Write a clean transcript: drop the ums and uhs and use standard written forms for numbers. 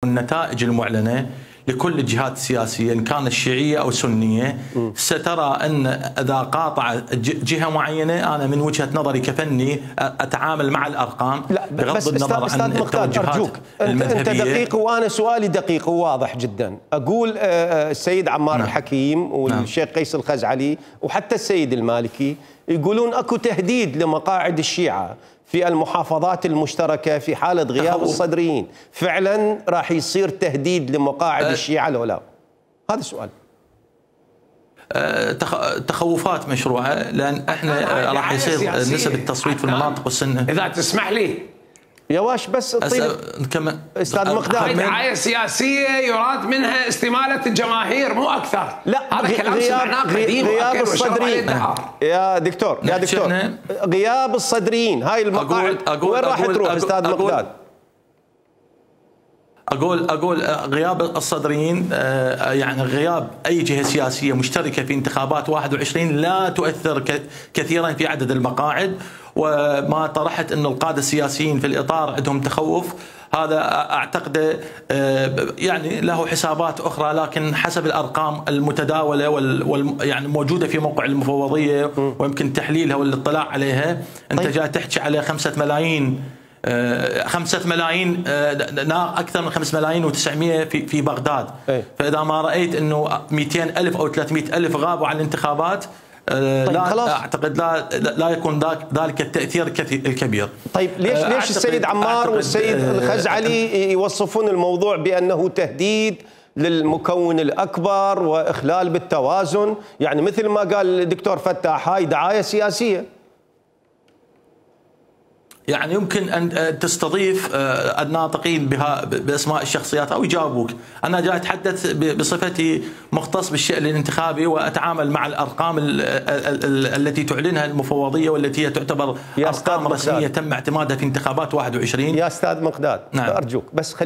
النتائج المعلنة لكل الجهات السياسية إن كانت شيعية أو سنية سترى أن إذا قاطع جهة معينة، أنا من وجهة نظري كفني أتعامل مع الأرقام بغض النظر عن التوجهات المذهبية. أنت دقيق وأنا سؤالي دقيق وواضح جدا. أقول السيد عمار الحكيم والشيخ قيس الخزعلي وحتى السيد المالكي يقولون أكو تهديد لمقاعد الشيعة في المحافظات المشتركة في حالة غياب الصدريين. فعلا راح يصير تهديد لمقاعد الشيعة لو لا؟ هذا السؤال. تخوفات مشروعة، لأن احنا راح يصير نسب التصويت في المناطق والسنة. إذا تسمح لي يا واش بس استاذ مقداد، دعاية سياسية يراد منها استمالة الجماهير مو أكثر. لا، هذا كلام سمعناه قديم غياب الصدريين يا دكتور غياب الصدريين هاي المقاعد وين راح تروح استاذ مقداد؟ أقول غياب الصدريين، يعني غياب أي جهة سياسية مشتركة في انتخابات 21 لا تؤثر كثيرا في عدد المقاعد. وما طرحت أن القادة السياسيين في الإطار عندهم تخوف، هذا أعتقد يعني له حسابات أخرى، لكن حسب الأرقام المتداولة يعني موجودة في موقع المفوضية ويمكن تحليلها والاطلاع عليها. أنت جاي تحكي على 5 ملايين، 5 ملايين أكثر من 5 ملايين و900 في بغداد. فإذا ما رأيت أنه 200,000 أو 300,000 غابوا عن الانتخابات، لا أعتقد لا يكون ذلك التأثير الكبير. طيب ليش السيد عمار والسيد الخزعلي يوصفون الموضوع بأنه تهديد للمكون الأكبر وإخلال بالتوازن؟ يعني مثل ما قال الدكتور فتاح هاي دعاية سياسية. يعني يمكن أن تستضيف الناطقين بأسماء الشخصيات أو يجاوبوك. أنا جاي أتحدث بصفتي مختص بالشأن الانتخابي وأتعامل مع الأرقام التي تعلنها المفوضية والتي هي تعتبر أرقام رسمية تم اعتمادها في انتخابات 21. يا أستاذ مقداد، أرجوك بس